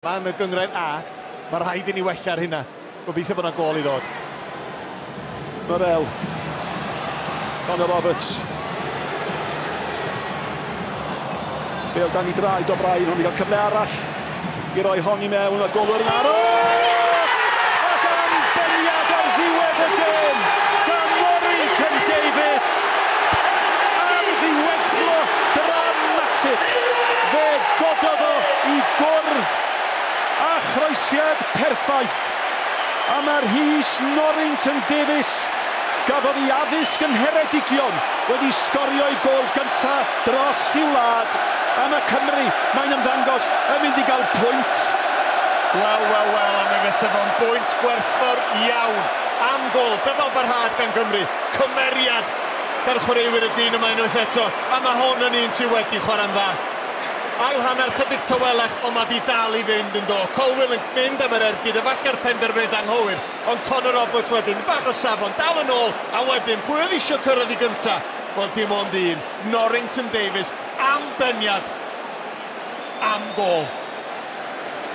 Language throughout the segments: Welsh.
Yn y gynghrair A, mae rhaid i ni wella ar hynna. Gobeithio bod yna gôl i ddod. Morel. Connor Roberts. Bêl dan i draed O'Brien, hwn i gael cyfle arall i roi hon i mewn, a golwr yn aros! Ac am beniad ar ddiwedd y gêm gan Norrington Davies! Am ddiweddglo dramatic! Fe gododd o i gwrdd a chroesiad perffaith. A mae'r Rhys Norrington Davies gafodd ei addysg yng Ngheredigion wedi sgorio ei gôl gyntaf dros i'w wlad, a mae Cymru, mae'n ymddangos, yn mynd i gael pwynt. Wel, wel, wel, a mi fysa fo'n bwynt gwerthfawr iawn. Am gôl, dyfal barhad gan Gymru, cymeriad gan chwaraewyr y dyn yma unwaith eto, a mae hwn yn un sydd wedi chwarae'n dda. Ail hanner chydig tawelach, ond mae di dal i fynd yn do. Colwill yn mynd am yr ergyd, efallai'r penderfyniad anghywir, ond Connor Roberts wedyn, bach o safon, dal yn ôl, a wedyn, pwy oedd eisiau cyrraedd i gynta? Wel, dim ond un, Norrington Davies, am beniad, am gôl.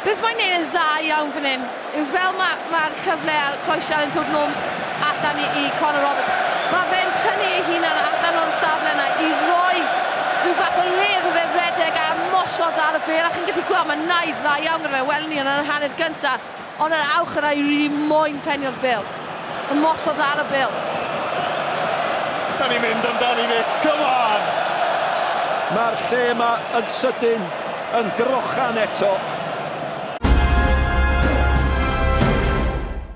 Beth mae'n neud yn dda iawn fan hyn yw fel mae'r cyfle a'r croesiad yn dod nôl allan i Connor Roberts. Mae fe'n tynnu ei hunan allan o'r safle yna i roi rhyw fath o le iddo fe redeg a mosod ar y bêl. A chi'n gallu gweld mae naid dda iawn gyda fe. Welwn ni yn yr hanner gynta, ond yr awch yna i rili moyn penio'r bêl. Y mosod ar y bêl. Da ni'n mynd amdani, Nick, come on! Mae'r lle yma yn sydyn yn grochan eto.